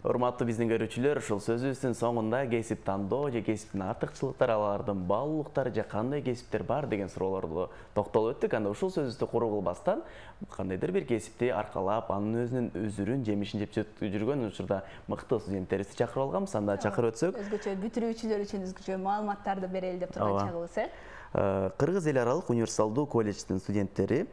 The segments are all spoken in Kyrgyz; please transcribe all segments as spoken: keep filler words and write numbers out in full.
Урматтуу биздин көрүүчүлөр, ушул сөзүбүздүн соңунда кесип тандоо же кесиптин артыкчылыктары, алардын баалуулуктары же кандай кесиптер бар деген суроолорго токтолуп өттүк. Анда ушул сөзүбүздү куруу кылбастан кандайдыр бир кесипти аркалап, анын өзүнүн өзүрүн, жемишин жеп жүргөн учурда мыкты студенттерибизди чакырып алганбыз. Анда чакырып өтсөк, өзгөчө бүтүрүүчүлөр үчүн өзгөчө маалыматтарды берели деп турган чагыбыз, э? Кыргыз эл аралык универсалдуу колледждин студенттери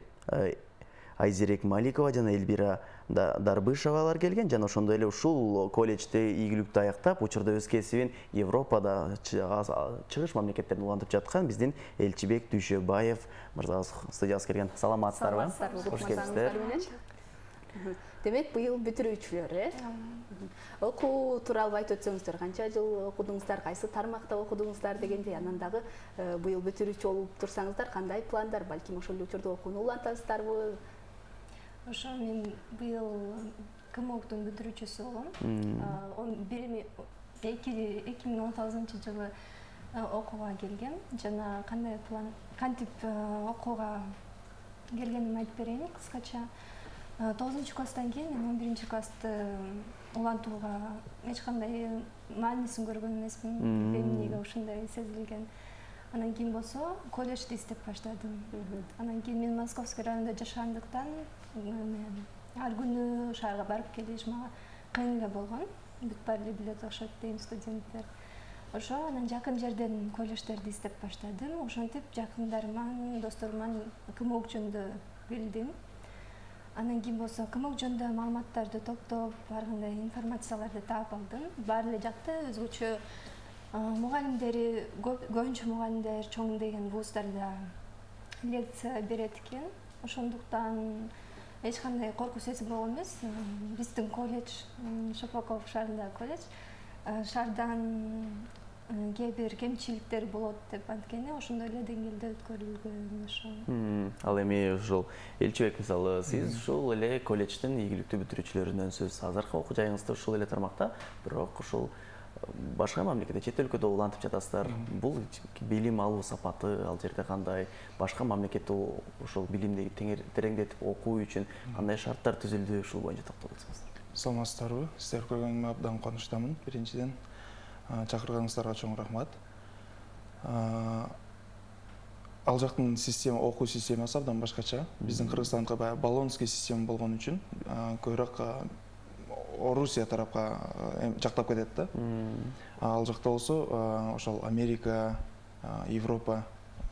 Айзерек Маликова жана Эльбира Дарбышевалар келген. Жана ошондой эле ушул колледжде ийгиликтүү аяктап, учурда өз кесибин Европада, чыгыш мамлекеттеринде улантып жаткан биздин Элчибек Дүйшөбаев мырзабыз студиябызга келген. Саламатсыздарбы? Кош келипсиздер. Демек, быйыл бүтүрүүчүлөр, э? Окуу тууралуу айтып өтсөңүздөр, канча жыл окудуңуздар, кайсы тармакта окудуңуздар дегенди, анан дагы быйыл бүтүрүүчү болуп турсаңыздар, кандай пландар, балким ошол учурда окууну улантасыздарбы? Ошо мен быйыл КМОктун бүтүрүүчүсү болом. эки миң он тогузунчу жылы окууга келгем. Жана кандай план, кантип окууга келгенимди айтып берейин кыскача. тогузунчу класстан кийин мен он биринчи классты улантууга эч кандай маанисин көргөн эмесмин. Эмнеге ушундай сезилген. Анан кийин болсо колледжди издеп баштадым. Анан кийин мен Московский районунда жашагандыктан ар күнү шаарга барып келиш мага кыйын эле болгон. Бүт баары эле билет окшойт дейм студенттер. Ошо анан жакын жерден колледждерди издеп баштадым. Ошентип жакындарыман, досторуман КМОк жөнүндө билдим. Анан кийин болсо КМОк жөнүндө маалыматтарды топтоп, ар кандай информацияларды таап алдым. Баары эле жакта өзгөчө мугалимдери, көбүнчө мугалимдер чоң деген вуздарда лекция берет экен. Ошондуктан эч кандай коркуу сезим болгон эмес. Биздин колледж, Шапоков шаарындагы колледж, шаардан кээ бир кемчиликтер болот деп анткени ошондой эле деңгээлде өткөрүлгөн ошо. Ал эми ушул Элчибек, мисалы, сиз ушул эле колледждин ийгиликтүү бүтүрүүчүлөрүнөнсүз. Азыркы окуу жайыңызды ушул эле тармакта, бирок ушул башка мамлекетте, чет өлкөдө улантып жатасыздар. Бул билим алуу сапаты ал жерде кандай? Башка мамлекетте ушул билимди тереңдетип окуу үчүн кандай шарттар түзүлдү? Ушул боюнча токтолуп өтсөңүздөр. Саламатсыздарбы? Сиздер көргөнүмө абдан кубанычтамын. Биринчиден чакырганыңыздарга чоң рахмат. Ал жактын система, окуу системасы абдан башкача. Биздин Кыргызстандыкы баягы Болонский система болгон үчүн көбүрөөк Орусия тарапка жактап кетет да. Ал жакта болсо ошол Америка, Европа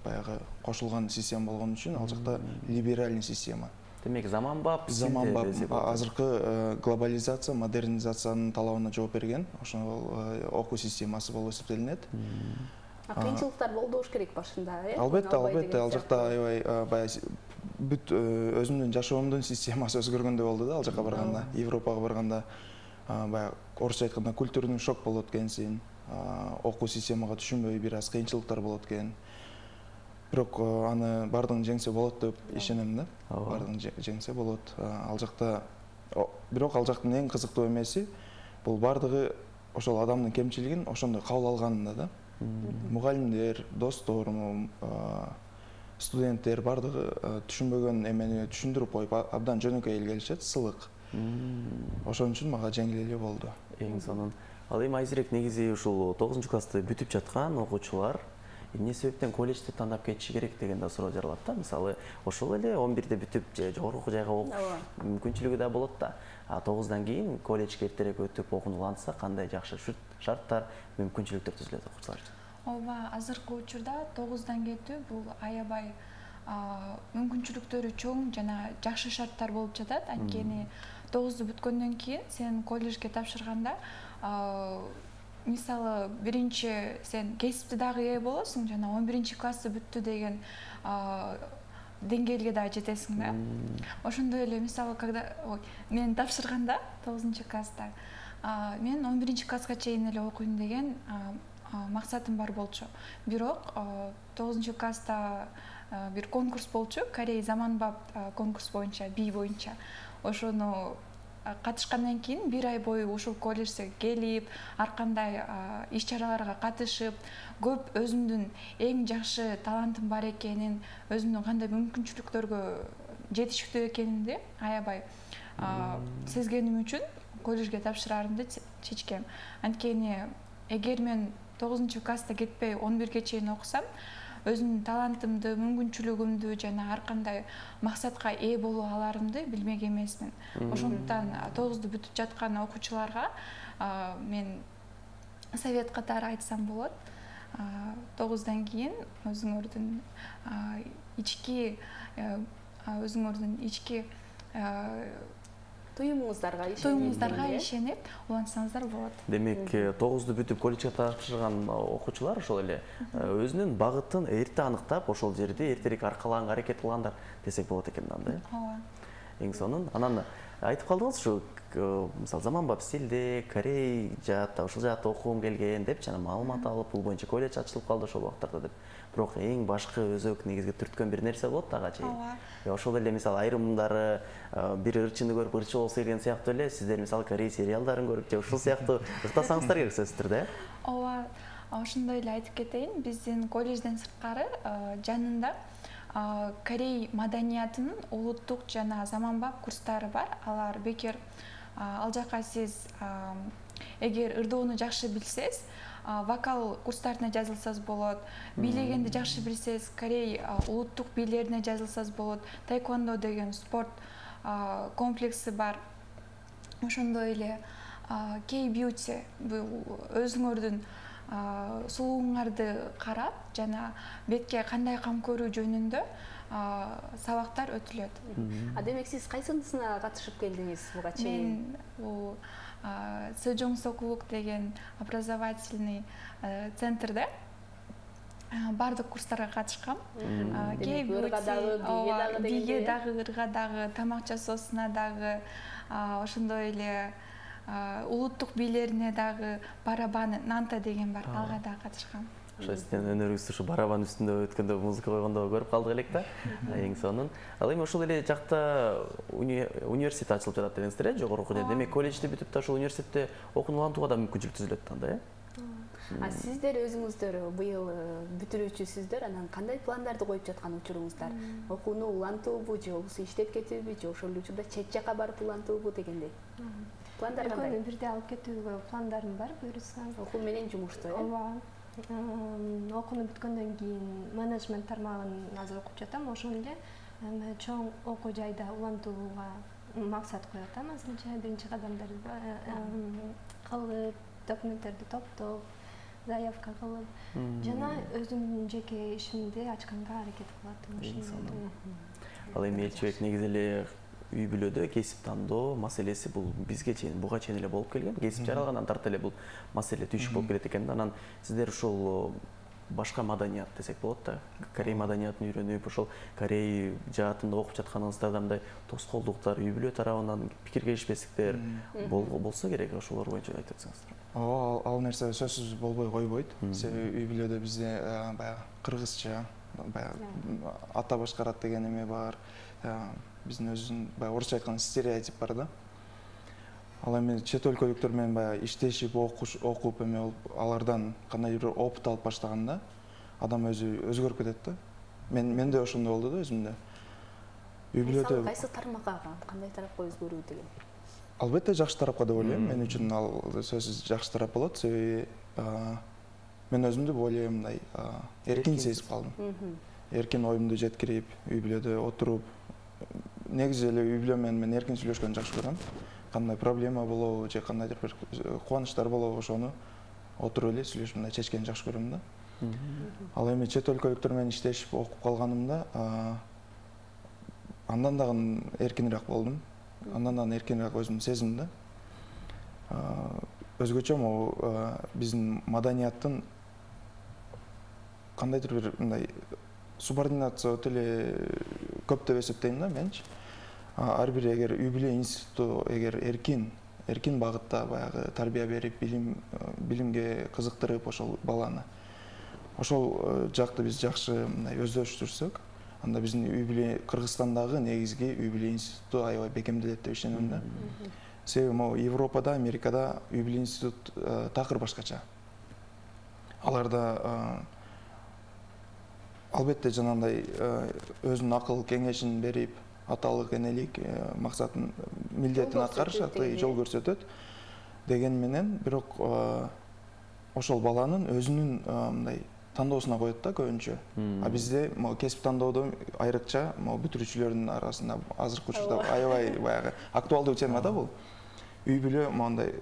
баягы кошулган система болгон үчүн ал жакта либеральный система. Демек, заманбап, заманбап, азыркы глобализация, модернизациянын талабына жооп берген, ошол окуу системасы болуп эсептелинет. Кыйынчылыктар болуш керек башында, э? Албетте, албетте, ал жакта аябай баягы бүт өзүмдүн жашоомдун системасы өзгөргөндөй болду да, ал жака барганда, Европага барганда баягы орусча айтканда культурный шок болот экенсиң, окуу системага түшүнбөй бир аз кыйынчылыктар болот экен. Бирок аны бардыгын жеңсе болот деп ишенем да. Бардыгын жеңсе болот. Ал жакта бирок ал жактын эң кызыктуу эмеси бул бардыгы ошол адамдын кемчилигин ошондой кабыл алганында да. Мугалимдер, досторум, студенттер бардыгы түшүнбөгөн эмени түшүндүрүп коюп абдан жөнөкөй эле келишет, сылык. Ошон үчүн мага жеңил эле болду. Эң сонун. Ал эми Айзерек, негизи ушул тогузунчу классты бүтүп жаткан окуучулар эмне себептен колледжди тандап кетиши керек деген да суроо жаралат да. Мисалы, ошол эле он бирде бүтүп же жогорку окуу жайга окуш мүмкүнчүлүгү да болот да. А тогуздан кийин колледжге эртерээк өтүп окунуланса, кандай жакшы шарттар, мүмкүнчүлүктөр түзүлөт окуучулар үчүн? Ооба, азыркы учурда тогуздан кетүү бул аябай мүмкүнчүлүктөрү чоң жана жакшы шарттар болуп жатат. Анткени тогузду бүткөндөн кийин сен колледжге тапшырганда, мисалы, биринчи сен кесипти дагы ээ болосуң, жана он биринчи классты бүттү деген деңгээлге да жетесиң да. Ошондой эле, мисалы, когда мен тапшырганда тогузунчу класста, мен он биринчи класска чейин эле окуйм деген максатым бар болчу. Бирок тогузунчу класста бир конкурс болчу, Корей заманбап конкурс боюнча, би боюнча. Ошону катышкандан кийин бир ай бою ушул колледжге келип, ар кандай иш-чараларга катышып, көп өзүмдүн эң жакшы талантым бар экенин, өзүмдүн кандай мүмкүнчүлүктөргө жетиштүү экенимди аябай сезгеним үчүн колледжге тапшыраарымды чечкем. Анткени эгер мен тогузунчу класста кетпей он бирге чейин окусам, өзүмдүн талантымды, мүмкүнчүлүгүмдү жана ар кандай максатка ээ боло аларымды билмек эмесмин. Ошондуктан тогузду бүтүп жаткан окуучуларга мен совет катары айтсам болот. тогуздан кийин өзүңөрдүн ички өзүңөрдүн ички туюмуңуздарга ишенип туюмуңуздарга ишенип улантсаңыздар болот. Демек, тогузду бүтүп колледжге тапшырган окуучулар ошол эле өзүнүн багытын эрте аныктап, ошол жерде эртерээк аркалаганга аракет кылгандар десек болот экен да. Ооба. Эң сонун. Анан айтып калдыңыз ушу, мисалы заманбап стилде Корей жаатта, ошол жаатта окугум келген деп жана маалымат алып, бул боюнча колледж ачылып калды ошол убактарда деп. Бирок эң башкы өзөк негизги түрткөн бир нерсе болот ага чейин. Ошол эле мисалы айрымдары бир ырчыны көрүп ырчы болсо келген сыяктуу эле, сиздер мисалы Корей сериалдарын көрүп же ушул сыяктуу ыктасаңыздар керек сөзсүздүр да. Ооба, ошондой эле айтып кетейин. Биздин колледжден сырткары жанында Корей маданиятынын улуттук жана заманбап курстары бар. Алар бекер ал жака сиз эгер ырдоону жакшы билсеңиз, вокал курстарына жазылсаңыз болот. Бийлегенди жакшы билсеңиз, Корей улуттук бийлерине жазылсаңыз болот. Таэквондо деген спорт комплекси бар. Ошондой эле K-beauty, бул өзүңөрдүн сулууңарды карап жана бетке кандай кам көрүү жөнүндө сабактар өтүлөт. А демек сиз кайсынысына катышып келдиңиз буга чейин? Мен бул Сэжонгсокулук деген образовательный центрде бардык курстарга катышкам. Ырга дагы, биге дагы, ырга дагы, тамак жасоосуна дагы, ошондой эле улуттук бийлерине дагы, барабан Нанта деген бар, алга дагы катышкам. Ошо сиздин өнөрүңүздү ушу барабан үстүндө өткөндө музыка койгондо көрүп калдык элек да. Эң сонун. Ал эми ошол эле жакта университет ачылып жатат дедиңиздер э, жогорку окуу. Демек колледжди бүтүп да ошол университетте окууну улантууга да мүмкүнчүлүк түзүлөт анда э? А сиздер өзүңүздөр быйыл бүтүрүүчүсүздөр, анан кандай пландарды коюп жаткан учуруңуздар? Окууну улантуубу же болбосо иштеп кетүүбү же ошол учурда чет жака барып улантуубу дегендей? Пландар кандай? Экөөнү бирдей алып кетүүгө пландарым бар, буюрса. Окуу менен жумушту э? Ооба. Окууну бүткөндөн кийин менеджмент тармагын азыр окуп жатам. Ошон эле чоң окуу жайда улантууга максат коюп атам. Азырынча биринчи кадамдарды кылып, документтерди топтоп, заявка кылып, жана өзүмдүн жеке ишимди ачканга аракет кылып атам. Ал эми Элчибек негизи эле үй бүлөдө кесип тандоо маселеси бул бизге чейин, буга чейин эле болуп келген. Кесип жаралгандан тарта эле бул маселе түйшүк болуп келет экен. Анан сиздер ушул башка маданият десек болот да. Корей маданиятын үйрөнүп, ошол Корей жаатында окуп жатканыңыздарда мындай тоскоолдуктар, үй бүлө тарабынан пикир келишпестиктер болсо керек, ошолор боюнча айтып өтсөңүздөр. Ооба, ал нерсе сөзсүз болбой койбойт. Себеби үй бүлөдө бизде баягы кыргызча, баягы ата башкарат деген эме бар. Биздин өзүнүн баягы орусча айтканда стереотип бар да. Ал эми чет өлкөлүктөр менен баягы иштешип, окуп эме болуп, алардан кандайдыр бир опыт алып баштаганда адам өзү өзгөрүп кетет да. Мен менде ошондой болду да өзүмдө. Үй бүлөдө кайсы тармакка, кандай тарапка өзгөрүү деген? Албетте жакшы тарапка деп ойлойм. Мен үчүн ал сөзсүз жакшы тарап болот. Себеби мен өзүмдү более мындай эркин сезип калдым. Эркин оюмду жеткирип, үй бүлөдө отуруп, негизи эле үй бүлө менен мен эркин сүйлөшкөндү жакшы көрөм. Кандай проблема болобу же кандайдыр бир кубанычтар болобу, ошону отуруп эле сүйлөшүп мындай чечкенди жакшы көрөм да. Ал эми чет өлкөлүктөр менен иштешип окуп калганымда андан дагы эркинирээк болдум. Андан дагы эркинирээк өзүмдү сездим да. Өзгөчө могу биздин маданияттын кандайдыр бир мындай субординация өтө эле көп деп эсептейм да менчи. Ар бир эгер үй бүлө институту эгер эркин, эркин багытта баягы тарбия берип, билим билимге кызыктырып ошол баланы, ошол жакты биз жакшы мындай өздөштүрсөк, анда биздин үй бүлө Кыргызстандагы негизги үй бүлө институту аябай бекемделет деп ишенем да. Себеби могу Европада, Америкада үй бүлө институт такыр башкача. Аларда албетте жанагындай өзүнүн акыл кеңешин берип, аталык энелик максатын милдетин аткарышат, жол көрсөтөт деген менен, бирок ошол баланын өзүнүн мындай тандоосуна коет да көбүнчө. А бизде могу кесип тандоодо айрыкча могу бүтүрүүчүлөрдүн арасында азыркы учурда аябай баягы актуалдуу тема да бул. Үй бүлө моундай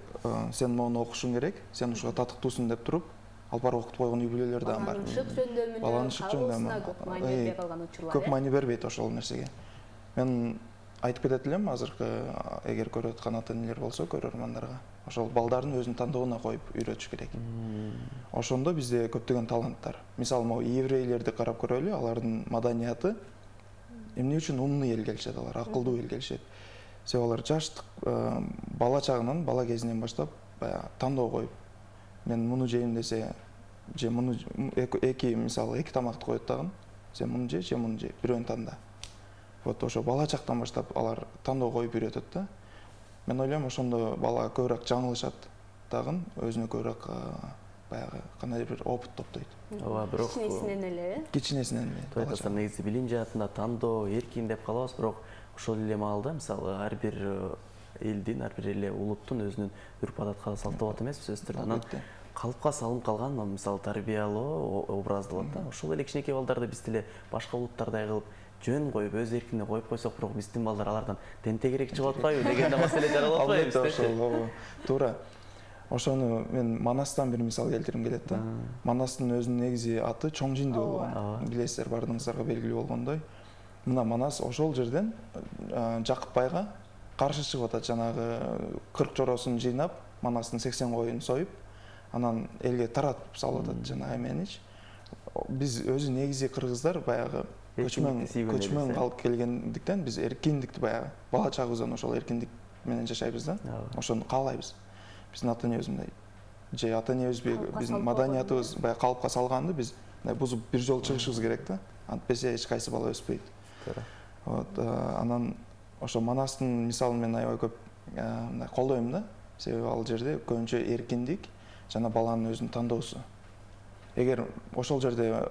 сен моуну окушуң керек, сен ушуга татыктуусуң деп туруп, алып барып окутуп койгон үй бүлөлөр да бар. Баланын шык жөндөмүнө көп маани бербей калган учурлар. Көп маани бербейт ошол нерсеге. Мен айтып кетет элем азыркы эгер көрүп аткан ата-энелер болсо көрөрмандарга, ошол балдардын өзүнүн тандоосуна коюп үйрөтүш керек. Ошондо бизде көптөгөн таланттар. Мисалы, могу еврейлерди карап көрөлү, алардын маданияты эмне үчүн умный эл келишет, алар акылдуу эл келишет. Себеби алар жаштык бала чагынан, бала кезинен баштап баягы тандоо коюп, мен муну жейм десе, же муну эки, мисалы, эки тамакты коет дагы, сен муну же, же муну же, бирөөнү танда. Вот ошо бала чактан баштап алар тандоо коюп үйрөтөт да. Мен ойлойм, ошондо бала көбүрөөк жаңылышат дагы, өзүнө көбүрөөк баягы кандайдыр бир опыт топтойт. Ооба, бирок кичинесинен эле, э? Кичинесинен эле. Тойтасыздар, негизи билим жаатында тандоо, эркин деп калабыз, бирок ошол эле маалда, мисалы, ар бир элдин, ар бир эле улуттун өзүнүн үрп адат салты болот эмеспи, сөзсүз түрдө. Анан калыпка салынып калган, мисалы, тарбиялоо образды болот да. Ошол эле кичинекей балдарды биз деле башка улуттардай кылып жөн коюп, өз эркине коюп койсок, бирок биздин балдар алардан тентегирээк чыгып атпайбы деген да маселе жаралып атпайбы? Ошол туура. Ошону мен Манастан бир мисал келтирим келет да. Манастын өзүнүн негизи аты Чоң Жинди болгон. Билесиздер, баардыгыңыздарга белгилүү болгондой. Мына Манас ошол жерден Жакып байга каршы чыгып атат, жанагы кырк жоросун жыйнап, Манастын сексен коюн союп, анан элге таратып салып атат жанагы эменич. Биз өзү негизи кыргыздар баягы көчмөн көчмөн калып келгендиктен биз эркиндикти баягы бала чагыбыздан ошол эркиндик менен жашайбыз да. Ошону каалайбыз. Биздин ата-энебиз мындай, же ата-энебиз биздин маданиятыбыз баягы калыпка салганды биз бузуп бир жолу чыгышыбыз керек да. Антпесе эч кайсы бала өспөйт. Вот, анан ошо Манастын мисалын мен аябай көп мындай колдойм да. Себеби ал жерде көбүнчө эркиндик жана баланын өзүнүн тандоосу. Эгер ошол жерде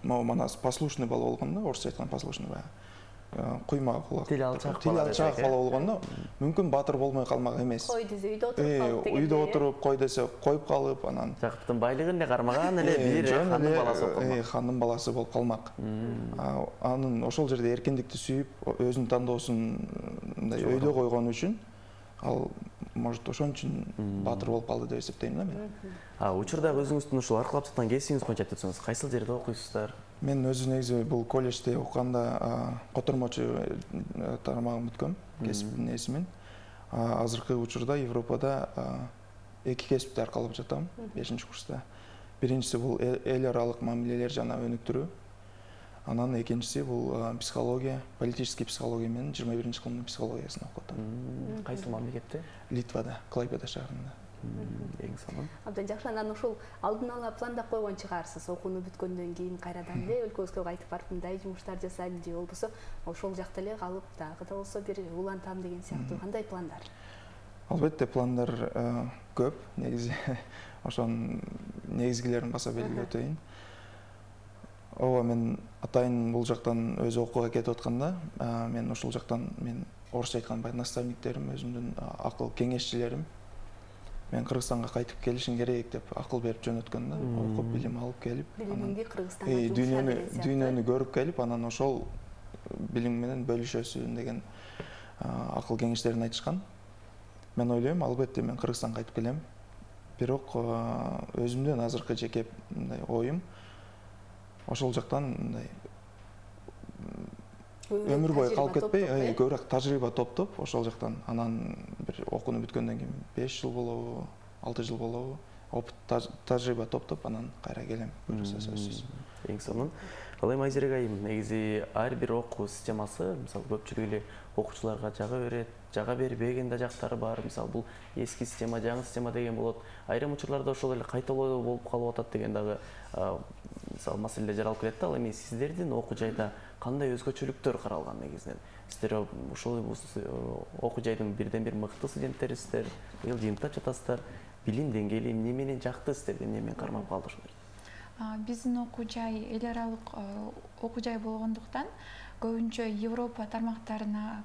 могу Манас послушный бала болгондо, орусча айтканда послушный баягы куйма кулак, тил алчаак тил алчаак бала болгондо мүмкүн баатыр болмой калмак эмес. Кой десе үйдө отуруп калып дегенде. Үйдө отуруп, кой десе коюп калып, анан Жакыптын байлыгын эле кармаган эле бир хандын баласы болуп калмак. Хандын баласы болуп калмак. Анын ошол жерде эркиндикти сүйүп, өзүнүн тандоосун мындай өйдө койгон үчүн ал может ошон үчүн баатыр болуп калды деп эсептейм да мен. А учурдагы өзүңүздүн ушул аркылап жаткан кесибиңиз боюнча айтып өтсөңүз, кайсыл жерде окуйсуздар? Мен өзү негизи бул колледжде окуганда котормочу тармагын бүткөм, кесиптин эсимин. Азыркы учурда Европада эки кесипти аркалап жатам, бешинчи курста. Биринчиси бул эл аралык мамилелер жана өнүктүрүү. Анан экинчиси бул психология, политический психология менен жыйырма биринчи кылымдын психологиясын окуп атам. Кайсы мамлекетте? Литвада, Клайпеда шаарында. Эң сонун. Абдан жакшы. Анан ушул алдын ала пландап койгон чыгаарсыз, окууну бүткөндөн кийин кайрадан эле өлкөбүзгө кайтып барып мындай жумуштар жасайм же болбосо ошол жакта эле калып дагы да болсо бир улантам деген сыяктуу кандай пландар? Албетте пландар көп, негизи ошонун негизгилерин баса белгилеп өтөйүн. Ооба, мен атайын бул жактан өзү окууга кетип атканда, мен ошол жактан мен орусча айтканда баягы наставниктерим, өзүмдүн акыл кеңешчилерим мен Кыргызстанга кайтып келишиң керек деп акыл берип жөнөткөн да, окуп билим алып келип, билимиңди Кыргызстанга жумша дүйнөнү дүйнөнү көрүп келип, анан ошол билим менен бөлүшөсүн деген акыл кеңештерин айтышкан. Мен ойлойм, албетте мен Кыргызстанга кайтып келем. Бирок өзүмдүн азыркы жеке мындай оюм ошол жактан мындай өмүр бою калып кетпей, көбүрөөк тажрыйба топтоп, ошол жактан анан бир окууну бүткөндөн кийин беш жыл болобу, алты жыл болобу, опыт тажрыйба топтоп, анан кайра келем. Буюрса сөзсүз. Эң сонун. Ал эми Айзерек айым, негизи ар бир окуу системасы, мисалы көпчүлүк эле окуучуларга жага берет, жага бербеген да жактары бар. Мисалы бул эски система, жаңы система деген болот. Айрым учурларда ошол эле кайталоо болуп калып атат деген дагы мисалы маселелер жаралып келет да. Ал эми сиздердин окуу жайда кандай өзгөчөлүктөр каралган негизинен? Сиздер ошол окуу жайдын бирден бир мыкты студенттерисиздер, быйыл жыйынтыктап жатасыздар. Билим деңгээли эмне менен жакты сиздерге, эмне менен кармап калды ошолор? Биздин окуу жай эл аралык окуу жай болгондуктан көбүнчө Европа тармактарына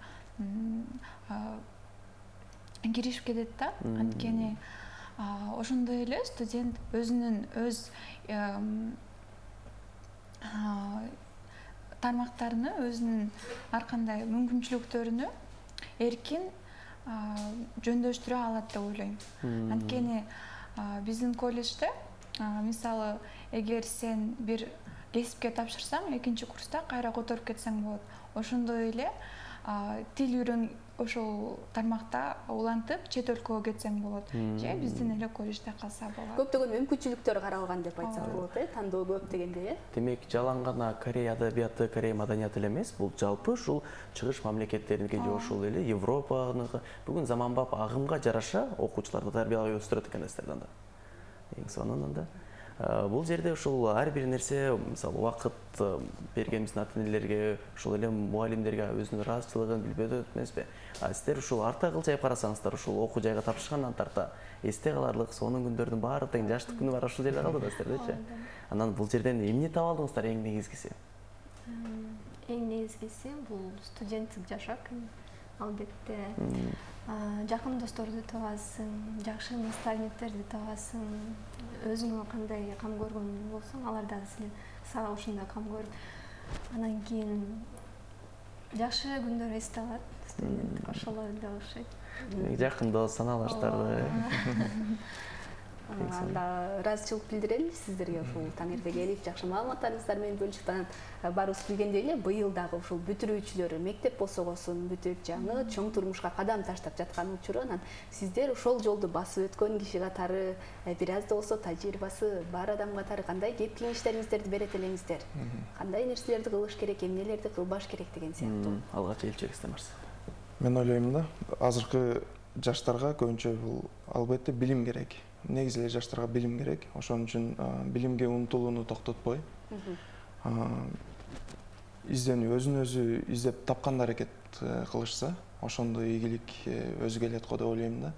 киришип кетет да. Анткени ошондой эле студент өзүнүн өз тармактарыны, өзүнүн ар кандай мүмкүнчүлүктөрүнү эркин жөндөштүрө алат деп ойлойм. Анткени биздин колледжде мисалы эгер сен бир кесипке тапшырсаң, экинчи курста кайра которуп кетсең болот. Ошондой эле тил үйрөн ошол тармакта улантып чет өлкөгө кетсең болот. Же биздин эле колледжде калса болот. Көптөгөн мүмкүнчүлүктөр каралган деп айтсак болот, э? Тандоо көп дегенде, э? Демек, жалаң гана Корея адабияты, Корея маданияты эле эмес, бул жалпы ушул чыгыш мамлекеттериники же ошол эле Европаныкы бүгүн заманбап агымга жараша окуучуларды тарбиялап өстүрөт экен эстерден да. Эң сонунан да. Бул жерде ушул ар бир нерсе, мисалы, убакыт берген биздин ата-энелерге, ошол эле мугалимдерге өзүнүн ыраазычылыгын билбей өтөт эмеспи? А сиздер ушул арта кылчайып карасаңыздар, ушул окуу жайга тапшыргандан тарта эсте каларлык сонун күндөрдүн баары тең жаштык күнү бар ушул жерде калды да сиздердечи. Анан бул жерден эмне таап алдыңыздар эң негизгиси? Эң негизгиси бул студенттик жашак, албетте. Жакын досторду табасың, жакшы наставниктерди табасың, өзүңө кандай кам көргөн болсоң, алар дагы силе сага ошондой кам көрүп, анан кийин жакшы күндөр эсте алат, студент ошолор эле окшойт. Жакын дос саналаштарды. Анда ыраазычылык билдирели сиздерге ушул таң эрте келип, жакшы маалыматтарыңыздар менен бөлүшүп, баарыбыз билгендей эле быйыл дагы ушул бүтүрүүчүлөр мектеп босогосун бүтүп, жаңы чоң турмушка кадам таштап жаткан учуру, анан сиздер ошол жолду басып өткөн киши катары бир аз да болсо тажрыйбасы бар адам катары кандай кеп кеңештериңиздерди берет элеңиздер? Кандай нерселерди кылыш керек, эмнелерди кылбаш керек деген сыяктуу? Алгач элчекте Марс. Мен ойлойм да, азыркы жаштарга көбүнчө бул албетте билим керек. Негизи эле жаштарга билим керек. Ошон үчүн билимге умтулууну токтотпой, изденүү, өзүн өзү издеп тапканды аракет кылышса, ошондой ийгилик өзү келет го деп ойлойм да.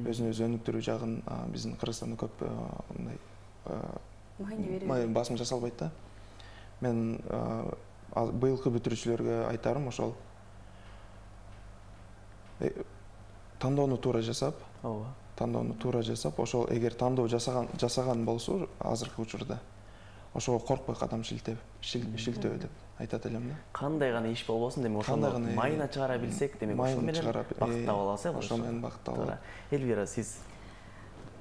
Өзүн өзү өнүктүрүү жагын биздин Кыргызстанда көп мындай басым жасалбайт да. Мен быйылкы бүтүрүүчүлөргө айтарым ошол тандоону туура жасап, ооба, тандоону туура жасап, ошол эгер тандоо жасаган жасаган болсо азыркы учурда ошого коркпой кадам шилтеп, шилтөө деп айтат элем да. Кандай гана иш болбосун, демек ошону майына чыгара билсек, демек ошол менен бакыт таап алабыз, э? Ошол менен бакыт таап алабыз. Элвира, сиз?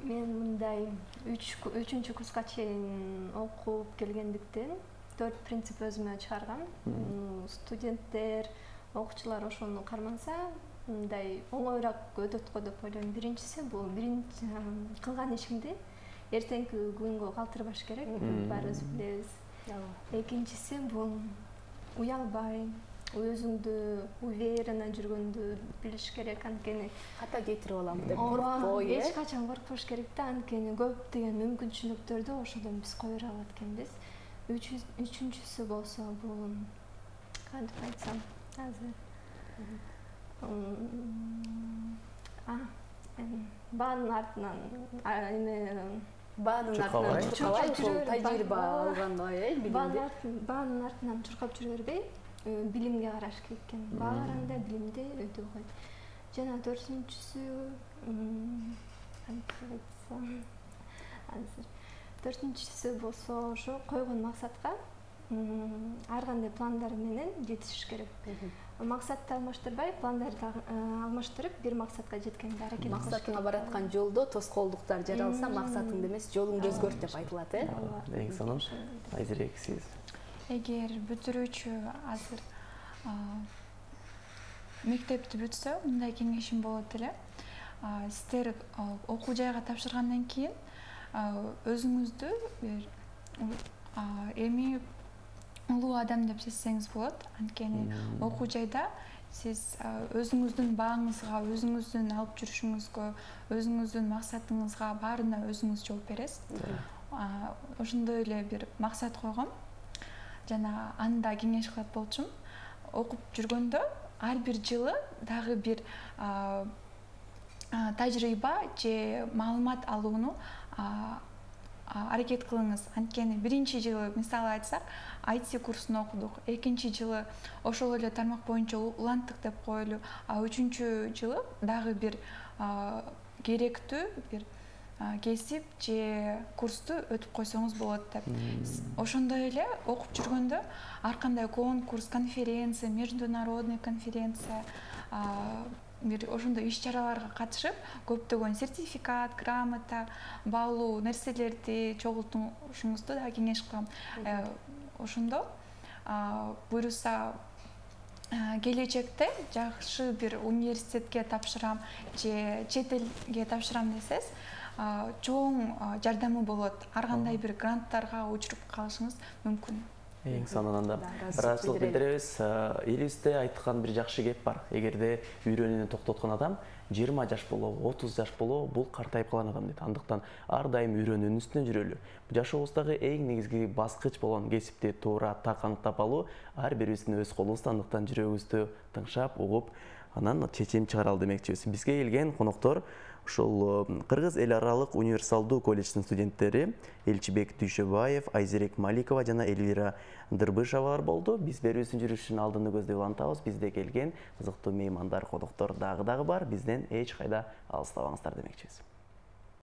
Мен мындай үчүнчү курска чейин окуп келгендиктен төрт принцип өзүмө чыгаргам. Студенттер, окуучулар ошону карманса, мындай оңоюраак өтөт го деп ойлойм. Биринчиси бул биринчи кылган ишиңди эртеңки күнгө калтырбаш керек, баарыбыз билебиз. Экинчиси бул уялбай, өзүңдү уверенно жүргөндү билиш керек, анткени ката кетирип алам деп коркпой, э? Эч качан коркпош керек да, анткени көптөгөн мүмкүнчүлүктөрдү ошодон биз койдура алат экенбиз. Үчүнчүсү болсо бул кантип айтсам, азыр баанын артынан эме баанын артынан чуркабай, ошол тажрыйба алгандай, э, билимди. Баанын артынан чуркап жүрө бербей, билимге караш керек экен. Баа караганда билимди өтө койт. Жана төртүнчүсү кантип айтсам, азыр төртүнчүсү болсо ошо койгон максатка ар кандай пландар менен жетишиш керек. Максатты алмаштырбай, пландарды алмаштырып, бир максатка жеткенге аракет кылыш керек. Максатыңа бараткан жолдо тоскоолдуктар жаралса, максатыңды эмес, жолуңду өзгөрт деп айтылат, э? Эң сонун. Айзерек, сиз? Эгер бүтүрүүчү азыр мектепти бүтсө, мындай кеңешим болот эле. Сиздер окуу жайга тапшыргандан кийин өзүңүздү бир эми улуу адам деп сезсеңиз болот. Анткени окуу жайда сиз өзүңүздүн бааңызга, өзүңүздүн алып жүрүшүңүзгө, өзүңүздүн максатыңызга баарына өзүңүз жооп бересиз. Ошондой эле бир максат койгом. Жана аны да кеңеш кылат болчумун. Окуп жүргөндө ар бир жылы дагы бир тажрыйба же маалымат алууну аракет кылыңыз. Анткени биринчи жылы мисалы айтсак ай ти курсун окудук, экинчи жылы ошол эле тармак боюнча уланттык деп коелу, а үчүнчү жылы дагы бир керектүү бир кесип же курсту өтүп койсоңуз болот деп. Ошондой эле окуп жүргөндө ар кандай конкурс, конференция, международный конференция, бир ошондой иш-чараларга катышып, көптөгөн сертификат, грамота, баалуу нерселерди чогултушуңузду да кеңеш кылам. Ошондо буюрса келечекте жакшы бир университетке тапшырам же чет элге тапшырам десеңиз, чоң жардамы болот. Ар кандай бир гранттарга учуруп калышыңыз мүмкүн. Эң сонунан да ыраазычылык билдиребиз. Элибизде айткан бир жакшы кеп бар. Эгерде үйрөнүүнү токтоткон адам жыйырма жаш болобу, отуз жаш болобу, бул картайып калган адам дейт. Андыктан ар дайым үйрөнүүнүн үстүнөн жүрөлү. Жашообуздагы эң негизги баскыч болгон кесипти туура так аныктап алуу ар бирибиздин өз колубузда. Андыктан жүрөгүбүздү тыңшап, угуп, анан чечим чыгаралы демекчибиз. Бизге келген коноктор ушул Кыргыз эл аралык универсалдуу колледждин студенттери Элчибек Дүйшөбаев, Айзерек Маликова жана Элвира Дырбышевалар болду. Биз берүүбүздүн жүрүшүн алдыны көздөй улантабыз. Бизде келген кызыктуу меймандар, коноктор дагы дагы бар. Бизден эч кайда алыстабаңыздар демекчибиз.